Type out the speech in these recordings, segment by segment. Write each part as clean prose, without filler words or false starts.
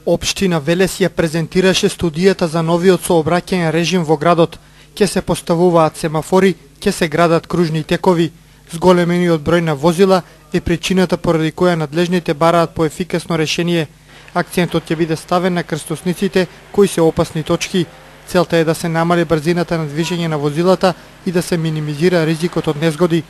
Општина Велес ја презентираше студијата за новиот сообраќајен режим во градот. Ќе се поставуваат семафори, ќе се градат кружни текови. Зголемениот број на возила е причината поради која надлежните бараат по ефикасно решение. Акцентот ќе биде ставен на крстосниците кои се опасни точки. Целта е да се намали брзината на движење на возилата и да се минимизира ризикот од незгоди.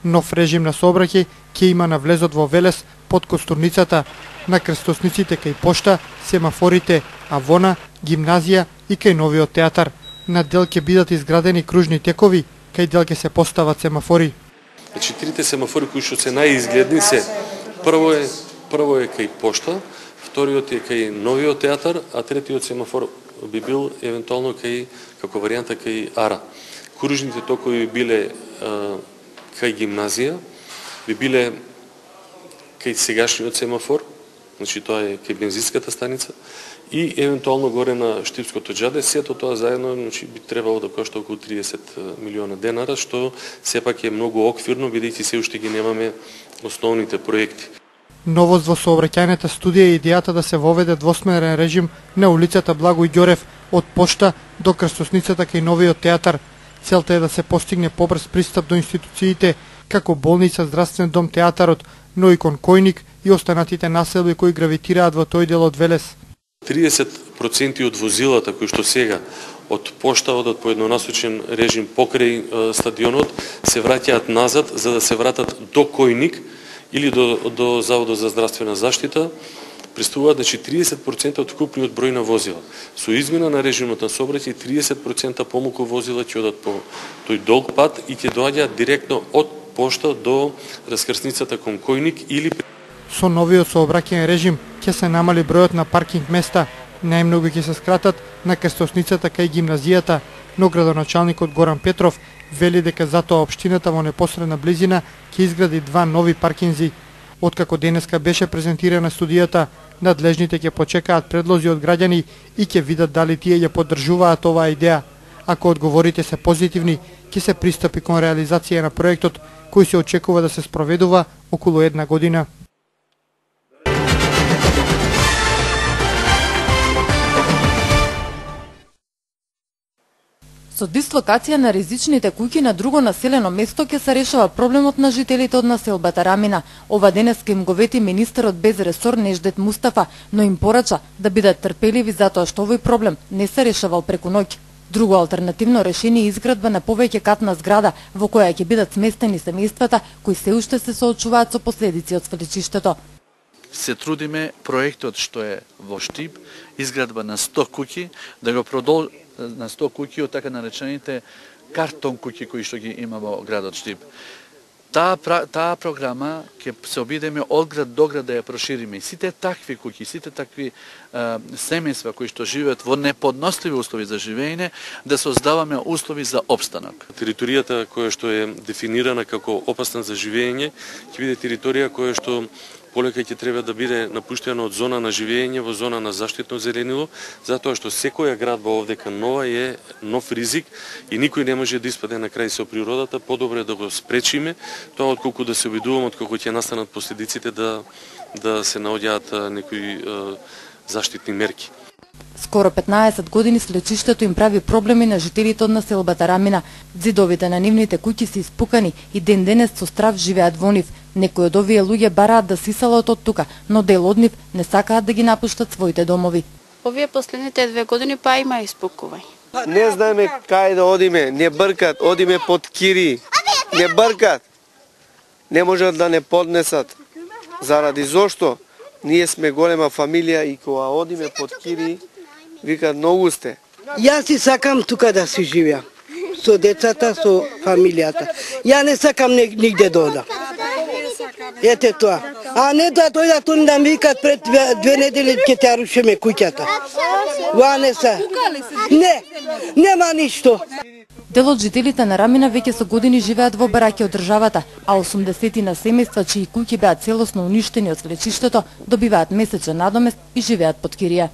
Нов режим на сообраќај ќе има на влезот во Велес под Костурницата, на крстосниците кај пошта, семафорите, Авона, гимназија и кај новиот театар. На дел ќе бидат изградени кружни текови, кај дел ќе се постават семафори. Значи трите семафори кои што се најизгледни се прво е кај пошта, вториот е кај новиот театар, а третиот семафор би бил евентуално како варијанта кај Ара. Кружните токови биле кај гимназија, би биле кај сегашниот семафор, значи тоа е кај бензинската станица, и евентуално горе на Штипското џаде. Сето тоа заедно значи, би требало да кошта околу 30 милиона денара, што сепак е многу оквирно, бидејќи се уште ги немаме основните проекти. Новост во сообраќајната студија е идејата да се воведе двосмерен режим на улицата Благој Ѓорев од пошта до крстосницата кај новиот театар. Целта е да се постигне побрз пристап до институциите, како болница, здравствен дом, театарот, но и кон Којник и останатите населби кои гравитираат во тој дел од Велес. 30% од возилата кои што сега од пошта одат по еднонасочен режим покрај стадионот се враќаат назад за да се вратат до Којник или до Заводот за здравствена заштита. Пристигуваат, значи 30% од вкупниот број на возила. Со измена на режимот на сообраќај 30% помалку возила ќе одат по тој долг пат и ќе доаѓаат директно од пошта до раскрсницата кон Којник или со новиот сообраќајен режим ќе се намали бројот на паркинг места, најмногу ќе се скратат на крстосницата кај гимназијата, но градоначалникот Горан Петров вели дека затоа општината во непосредна близина ќе изгради 2 нови паркинзи. Откако денеска беше презентирана студијата, надлежните ќе почекаат предлози од граѓани и ќе видат дали тие ја поддржуваат оваа идеја. Ако одговорите се позитивни, ќе се пристапи кон реализација на проектот, кој се очекува да се спроведува околу 1 година. Со дислокација на ризичните куќи на друго населено место ќе се решава проблемот на жителите од населбата Рамина. Ова денеска им го вети министерот без ресор Неждет Мустафа, но им порача да бидат трпеливи затоа што овој проблем не се решавал преку ноќ. Друго алтернативно решение е изградба на повеќе катна зграда во која ќе бидат сместени семејствата кои се уште се соочуваат со последици од свлечиштето. Се трудиме проектот што е во Штип, изградба на 100 куќи, да го на 100 куќи од така наречените картон куќи кои што ги има во градот Штип. Таа програма ќе се обидеме од град до град да ја прошириме. И сите такви куќи, сите такви семејства кои што живеат во неподносливи услови за живење, да создаваме услови за опстанок. Територијата која што е дефинирана како опасна за живење ќе биде територија која што полека ќе треба да биде напуштена од зона на живење во зона на заштитно зеленило, затоа што секоја градба овдека нова е нов ризик и никој не може да испаде на крај со природата. Подобро е да го спречиме тоа отколку да се обидуваме отколку ќе настанат последиците да се наоѓаат некои заштитни мерки. Скоро 15 години слечиштето им прави проблеми на жителите од населбата Рамина. Зидовите на нивните куќи се испукани и ден денес со страв живеат во нив. Некои од овие луѓе бараат да сисалат од тука, но дел од нив не сакаат да ги напуштат своите домови. Овие последните 2 години па има испукување. Не знаеме кај да одиме, не бркат, одиме под кири, не бркат. Не можат да не поднесат. Заради зошто? Ние сме голема фамилија и кога одиме под кири, викат многу сте. Јас си сакам тука да си живеам, со децата, со фамилијата. Ја не сакам нигде да одам. Ете тоа. А не да дојдат они да ми викат пред 2 недели ќе те рушиме куќата. Ва не се. Не, нема ништо. Дел од жителите на Рамина веќе со години живеат во бараки од државата, а 80 на семејства чии куќи беа целосно уништени од свлечиштето добиваат месечен надомест и живеат под кирија.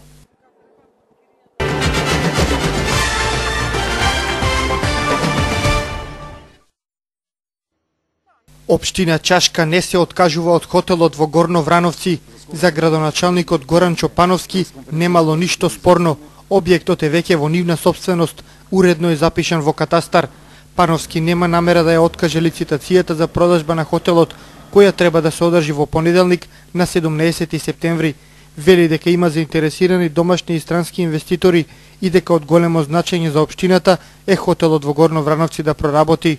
Општина Чашка не се откажува од хотелот во Горно Врановци. За градоначалникот Горан Чопановски немало ништо спорно. Објектот е веќе во нивна собственост, уредно е запишан во катастар. Пановски нема намера да ја откаже лицитацијата за продажба на хотелот, која треба да се одржи во понеделник на 17 септември. Вели дека има заинтересирани домашни и странски инвеститори и дека од големо значење за општината е хотелот во Горно Врановци да проработи.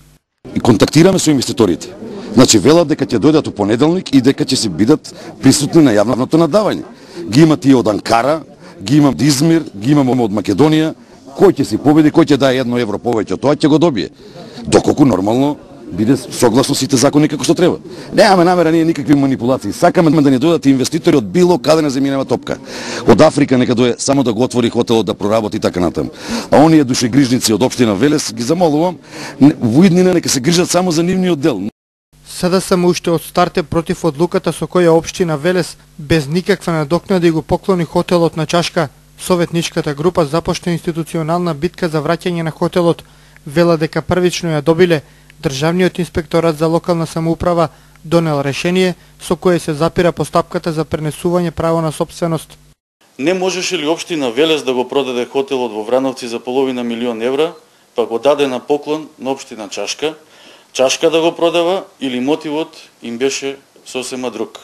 И контактираме со инвеститорите. Значи велат дека ќе дојдат у понеделник и дека ќе се бидат присутни на јавното надавање. Ги има тие од Анкара, ги имам од Измир, ги имам од Македонија. Кој ќе се победи, кој ќе дае 1 евро повеќе, тоа ќе го добие. Доколку нормално биде согласно сите закони како што треба. Немаме намера ние никакви манипулации. Сакаме да не дојдат инвеститори од било каде на земјинава топка. Од Африка нека дое само да го отвори хотелот да проработи така натаму. А оние душегрижници од општина Велес ги замолувам во иднина нека се грижат само за нивниот дел. СДСМ уште од старт е против одлуката со која општина Велес без никаква надокнада го поклони хотелот на Чашка. Советничката група започна институционална битка за враќање на хотелот. Вела дека првично ја добиле. Државниот инспекторат за локална самоуправа донел решение со кое се запира постапката за пренесување право на собственост. Не можеше ли општина Велес да го продаде хотелот во Врановци за половина милион евра, па го даде на поклон на општина Чашка, Чашка да го продава или мотивот им беше сосема друг?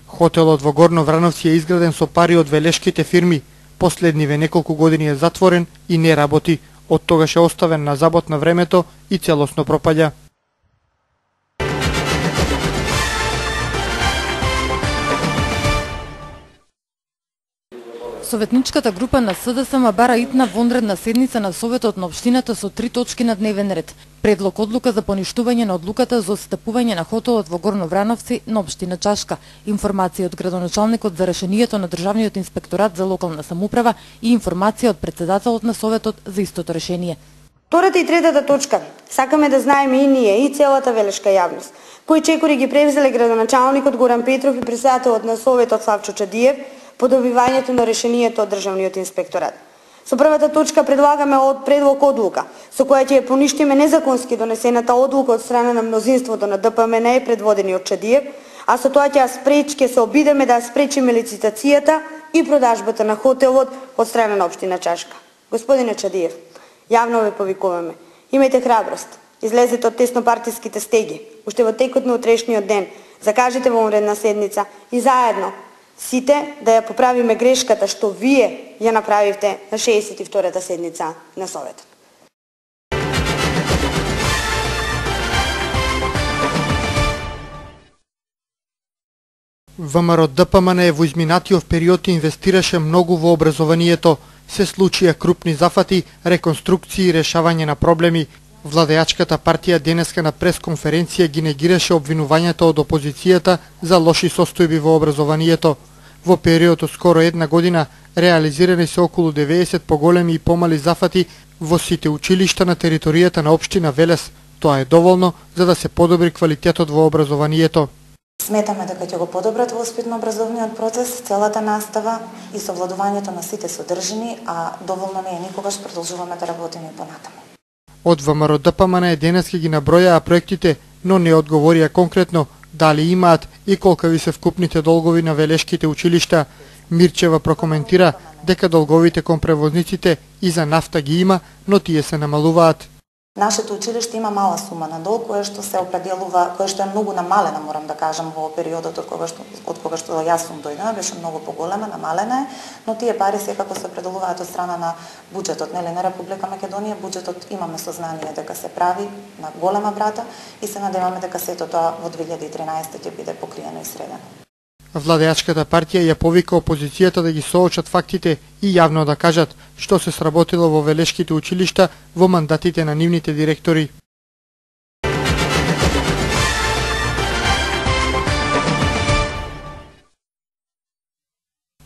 Хотелот во Горно Врановци е изграден со пари од велешките фирми. Последниве неколку години е затворен и не работи. Од тогаш е оставен на забот на времето и целосно пропаѓа. Советничката група на СДСМ бара итна вонредна седница на Советот на општината со 3 точки на дневен ред. Предлог одлука за поништување на одлуката за отстапување на хотелот во Горно Врановци на општина Чашка, информација од градоначалникот за решението на Државниот инспекторат за локална самоуправа и информација од председателот на Советот за истото решение. Втората и третата точка. Сакаме да знаеме и ние, и целата велешка јавност, кои чекори ги превзеле градоначалникот Горан Петров и председателот на Советот Славчо Чадиев по добивањето на решението од Државниот инспекторат. Со првата точка предлагаме предлог одлука, со која ќе поништиме незаконски донесената одлука од страна на мнозинството на ДПМН предводени од Чадиев, а со тоа ќе се обидеме да спречиме лицитацијата и продажбата на хотелот од страна на општина Чашка. Господине Чадиев, јавно ве повикуваме. Имајте храброст, излезете од теснопартиските стеги, уште во текот на утрешниот ден, закажете вонредна седница и заедно сите да ја поправиме грешката што вие ја направивте на 62-та седница на Советот. ВМРО ДПМН во изминатиот период инвестираше многу во образованието. Се случија крупни зафати, реконструкции и решавање на проблеми. Владеачката партија денеска на пресконференција ги негираше обвинувањата од опозицијата за лоши состојби во образованието. Во период од скоро една година реализирани се околу 90 поголеми и помали зафати во сите училишта на територијата на општина Велес. Тоа е доволно за да се подобри квалитетот во образованието. Сметаме дека ќе го подобрат воспитно-образовниот процес, целата настава и совладувањето на сите содржини, а доволно не е никогаш, продолжуваме да работиме и понатаму. Од ВМРО ДПМН денеска ги набројаа проектите, но не одговорија конкретно дали имаат и колкави се вкупните долгови на велешките училишта. Мирчева прокоментира дека долговите кон превозниците и за нафта ги има, но тие се намалуваат. Нашето училиште има мала сума на долг, која што се определува, која што е многу намалена, морам да кажам, во периодот од кога што јас сум дојдена, беше многу поголема, намалена е, но тие пари секако се определуваат од страна на буџетот, нели, на Република Македонија. Буџетот имаме сознание дека се прави на голема брата и се надеваме дека сето тоа во 2013 ќе биде покриено и средено. Владеачката партија ја повика опозицијата да ги соочат фактите и јавно да кажат што се сработило во велешките училишта во мандатите на нивните директори.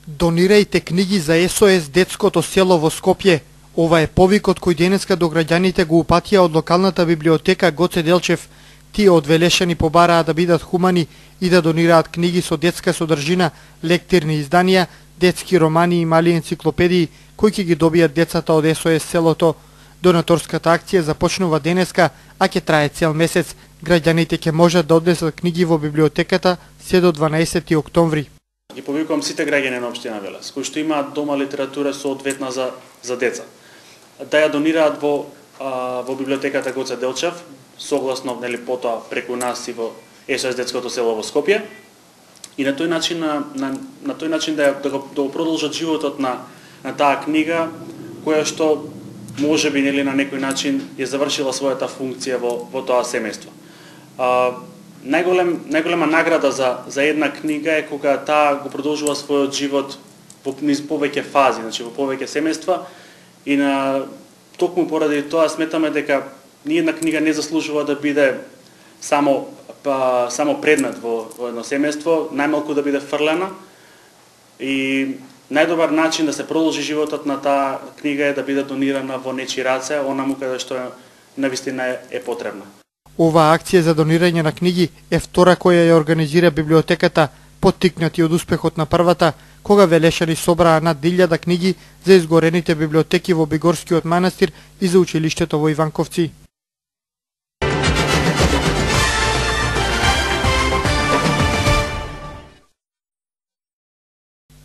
Донирајте книги за СОС детското село во Скопје. Ова е повикот кој денеска до граѓаните го упатија од локалната библиотека Гоце Делчев. Тие од Велешани побараа да бидат хумани и да донираат книги со детска содржина, лектирни изданија, детски романи и мали енциклопедии кои ќе ги добијат децата од СОС селото. Донаторската акција започнува денеска, а ќе трае цел месец. Граѓаните ќе можат да однесат книги во библиотеката се до 12 октомври. Ги повикувам сите граѓани на општина Велес, кои што имаат дома литература соодветна за деца, да ја донираат во библиотеката Гоце Делчев, согласно потоа преку нас и во СОС детското село во Скопје, и на тој начин на тој начин да го продолжат животот на таа книга, која што можеби на некој начин ја завршила својата функција во тоа семејство. Најголема награда за една книга е кога таа го продолжува својот живот низ повеќе фази, значи во повеќе семејства, и токму поради тоа сметаме дека ни една книга не заслужува да биде само предмет во едно семејство, најмалку да биде фрлена, и најдобар начин да се продолжи животот на таа книга е да биде донирана во нечии раце, онаму каде што навистина е потребна. Оваа акција за донирање на книги е втора која ја организира библиотеката, поттикнати од успехот на првата, кога велешани собраа над 1000 книги за изгорените библиотеки во Бигорскиот манастир и за училиштето во Иванковци.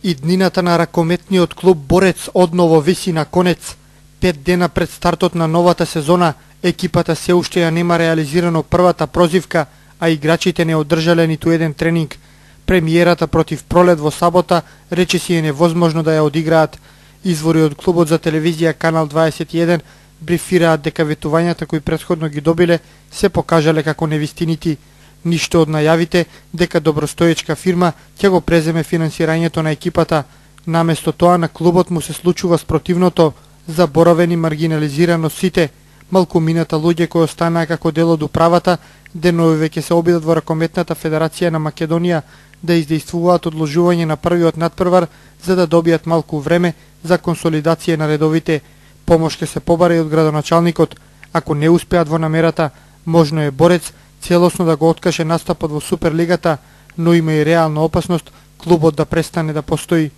И днината на ракометниот клуб Борец одново виси на конец. 5 дена пред стартот на новата сезона, екипата се уште ја нема реализирано првата прозивка, а играчите не одржале ниту еден тренинг. Премиерата против Пролет во сабота речиси е невозможно да ја одиграат. Извори од клубот за телевизија Канал 21 брифираат дека ветувањата кои претходно ги добиле се покажале како невистинити. Ништо од најавите дека добростоечка фирма ќе го преземе финансирањето на екипата. Наместо тоа на клубот му се случува спротивното, заборавени маргинализирано сите. Малкумината луѓе кои останаа како дел од управата, денови ќе се обидат во Ракометната федерација на Македонија да издействуваат одложување на првиот надпревар за да добијат малку време за консолидација на редовите. Помош ќе се побара и од градоначалникот. Ако не успеат во намерата, можно е Борец целосно да го откаже настапот во Суперлигата, но има и реална опасност клубот да престане да постои.